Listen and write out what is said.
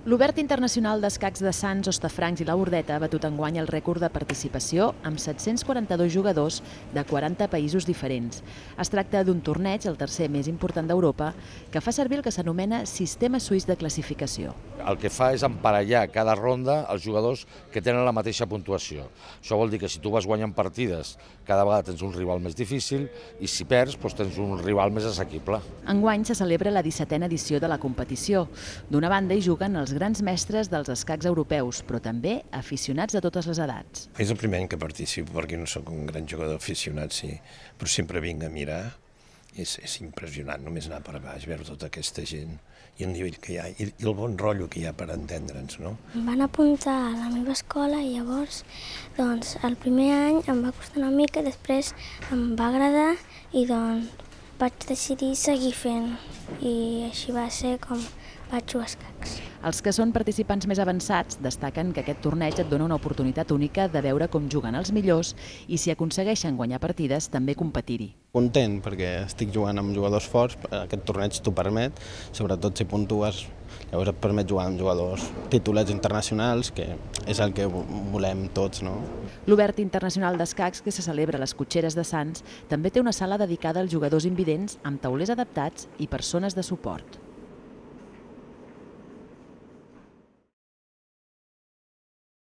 L'Obert Internacional d'Escacs de Sants, Hostafrancs i la Bordeta ha batut enguany el rècord de participació amb 742 jugadors de 40 països diferents. Es tracta d'un torneig, el tercer més important d'Europa, que fa servir el que s'anomena Sistema Suís de Classificació. El que fa és emparellar cada ronda els jugadors que tenen la mateixa puntuació. Això vol dir que si tu vas guanyant partides, cada vegada tens un rival més difícil i si perds, doncs tens un rival més assequible. Enguany se celebra la 17a edició de la competició. D'una banda hi juguen els grans mestres dels escacs europeus, però també aficionats de totes les edats. És el primer any que participo perquè no sóc un gran jugador aficionat, sí, però sempre vinc a mirar. És impressionant només anar per baix, veure tota aquesta gent i el nivell que hi ha i el bon rotllo que hi ha per entendre'ns, no? Em van apuntar a la meva escola i llavors, doncs, el primer any em va costar una mica, després em va agradar i doncs vaig decidir seguir fent i així va ser com vaig jugar a escacs. Els que són participants més avançats destaquen que aquest torneig et dona una oportunitat única de veure com juguen els millors i si aconsegueixen guanyar partides també competir-hi. Content perquè estic jugant amb jugadors forts, aquest torneig t'ho permet, sobretot si puntues, llavors et permet jugar amb jugadors titulats internacionals, que és el que volem tots, no? L'Obert Internacional d'Escacs, que se celebra a les Cotxeres de Sants, també té una sala dedicada als jugadors invidents amb taulers adaptats i persones de suport.